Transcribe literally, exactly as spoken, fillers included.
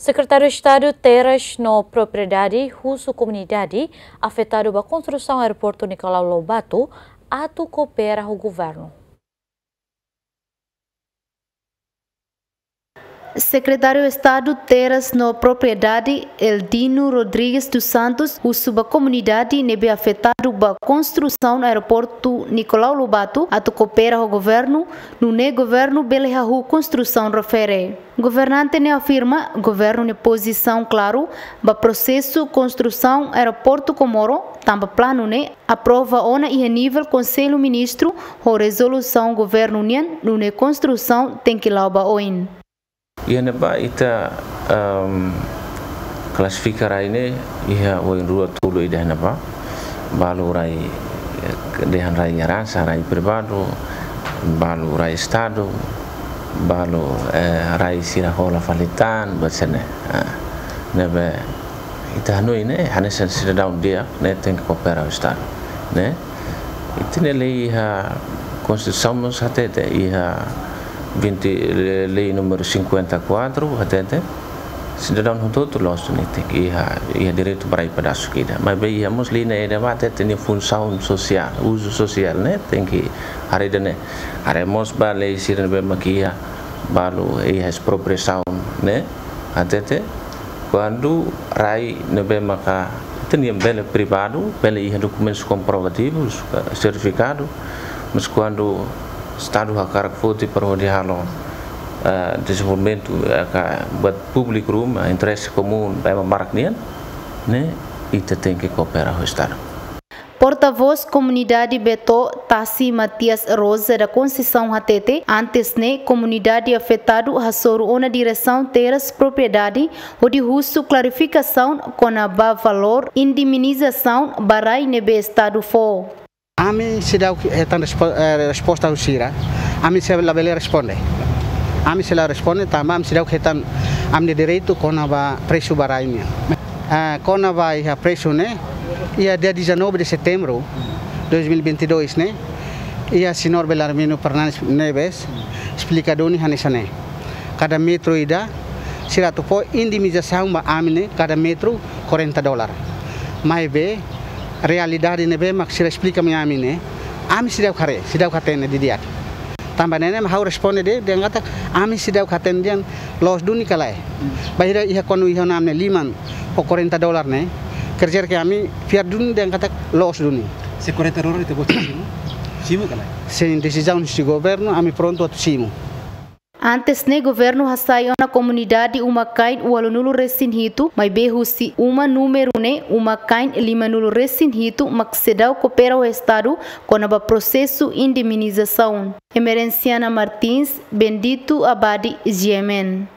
Sekretáriu Estadu Terras no Propriedade husu komunidade afetadu ba konstrusaun aeroportu Nicolau Lobato atu koopera ho governu. Sekretáriu Estadu Terras no Propriedade, Eldino Rodrigues dos Santos, husu ba komunidade ne'ebé afetadu ba konstrusaun aeroportu Nicolau Lobato atu koopera ho governu, nune'e governu bele hahú konstrusaun refere. Governante ne'e afirma, governu ne'e pozisaun klaru ba prosesu konstrusaun aeroportu Comoro, tanba planu ne'e aprova ona iha nivel Konsellu Ministru ho rezolusaun governu nian, nune'e konstrusaun tenke la'o ba oin. Iha ne'ebá ita, ehm, klasifika rai ne'e iha oin rua tolu ida iha ne'ebá. Balu rai, eh, dehan rai eransa, rai privadu, balu rai Estadu, balu, eh, rai sira hola fali tan, buat sira-ne'e. Ah, ne'ebé ita hanoin ne'e, hanesan sidadaun di'ak ne'e tenke koopera ho Estadu, ne'e. Ita-nia lei iha Konstituisaun mós hatete, iha vinte, lei númeru cinquenta e quatro hatete, sidadaun hotu-hotu loos duni tenke iha, iha direitu ba rai pedasu ida. Maibé iha mós lei ne'ebé hatete nia funsaun sosiál, uzu sosiál ne'e tenke haree ida-ne'e. Haree mós ba lei sira ne'ebé mak iha balu iha espropriasaun ne'e hatete, kuandu rai ne'ebé maka ita-nia bele privadu, bele iha dokumentus komprovativus, eh, sertifikadu, mas kuandu Estadu hakarak foti para hodi halo, eh, dezenvolvimentu, eh, ka buat públiku ruma, interese komún, ba ema barak nian, ne'e ita tenke koopera ho Estadu. Portavós komunidade Beto, Tasi Matias Rosa da Conceição hatete, antes ne'e komunidade afetadu hasoru ona diresaun Terras Propriedade hodi husu klarifikasaun kona-ba valór indemnizasaun ba rai ne'ebé Estadu fó. Ami seidauk hetan respo-, eh, resposta husi sira. Ami sei labele responde. Ami sei la responde, tanba ami seidauk hetan ami-nia direitu kona-ba presu ba rai nian. Eh, kona-ba iha presu ne'e, iha dia dezanove de setembro dois mil e vinte e dois ne'e, iha señór Belarmino Fernandes Neves esplika duni hanesan ne'e. Kada metru ida, sira atu fó indemnizasaun ba ami ne'e, kada metru quarenta dólar. Maibé, realidade ne'ebé mak sira esplika mai ami ne'e, ami seidauk haree, seidauk hatene didi'ak. Tanba ne'e mak ha'u responde dehan, dehan katak, ami seidauk hatene dehan loos duni ka lae. Bainhira iha kuandu iha ona ami-nia liman ho quarenta dólar ne'e, kerja ke ami fiar duni dehan katak loos duni. Se quarenta dólar ita-boot simu, simu ka lae? Se desizaun husi governu, ami prontu atu simu. Antes ne'e governu hasai ona komunidade uma-kain ualunulu-resin-hitu, maibé husi uma númeru ne'e uma-kain limanulu-resin-hitu mak seidauk koopera ho Estadu kona-ba prosesu indemnizasaun. Emerenciana Martins, Bendito Abade, G M N.